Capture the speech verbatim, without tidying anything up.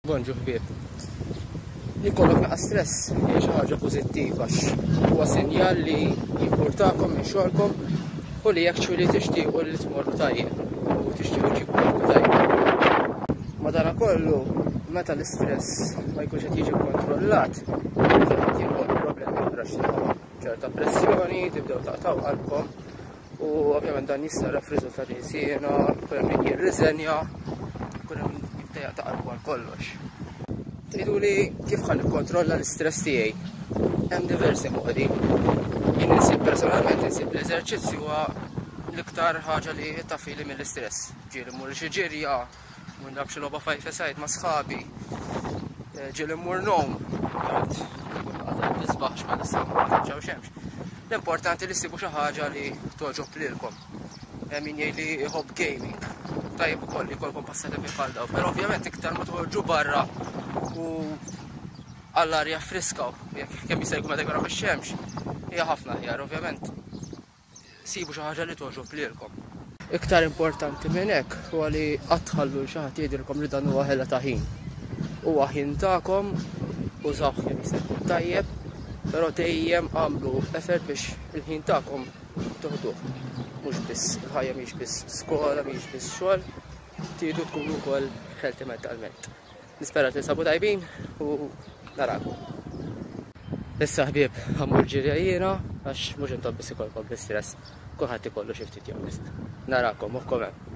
Bonġu ħbieb. Li jkollok naqa stress hija xi ħaġa pożittiva għax huwa sinjal li jimpurtakom minn xogħolkom u li actually tixtiequ li tmorru tajjeb u tixtiequ ġibu tajjeb. Madanakollu, meta l-istress ma jkunx qed jiġi kontrollat, ovvjament jinħolqu problemi oħra, ċerta pressjoni, tibdew taqtaw qalbkom u ovvjament dan jissarraf f'riżultati ħsiena, jkun hemm min jirriżenja, jkun hemm jibda jaqta' qalbu għal kollox. Tgħidu li kif ħa nikkontrolla l-istress tiegħi? Hemm diversi modi. Jien insib personalment insib l-eżerċizzju huwa l-iktar ħaġa li tafili mill-istress. Ġieli mmur xi ġirja, mmur nilgħab xi logħba five side ma' sħabi, eh, ġieli mmur ngħum, nisbaħ bħalissa ma ġew xemx. L-importanti li ssibu xi ħaġa li togħġob lilkom. Hemm min jgħid li jħobb gaming. Tajjeb ukoll li jkollkom passatempi bħal dawn, però ovvjament iktar ma toħorġu barra u għall-arja friska, jekk kemm jista' jkun meta jkun ix-xemx, hija ħafna aħjar, ovvjament sibu xi ħaġa li togħġob lilkom. Iktar importanti minn hekk huwa li qatt tħallu xi ħadd jgħidilkom li dan huwa ħela ta' ħin. Huwa ħin tagħkom, użawh kemm jista' jkun tajjeb, però dejjem għamlu effort biex il-ħin tagħkom toħduh. Mhux biss il-ħajja mhix biss skola, mhix biss xogħol, tridu tkunu wkoll healthy mentalment. Nispera tinsabu tajbin u narakom. Issa ħbieb, ħa mmur ġirja jiena għax mhux intom biss ikollkom l-istress, kulħadd ikollu xi ftit jew wisq. Narakom, moħħkom hemm.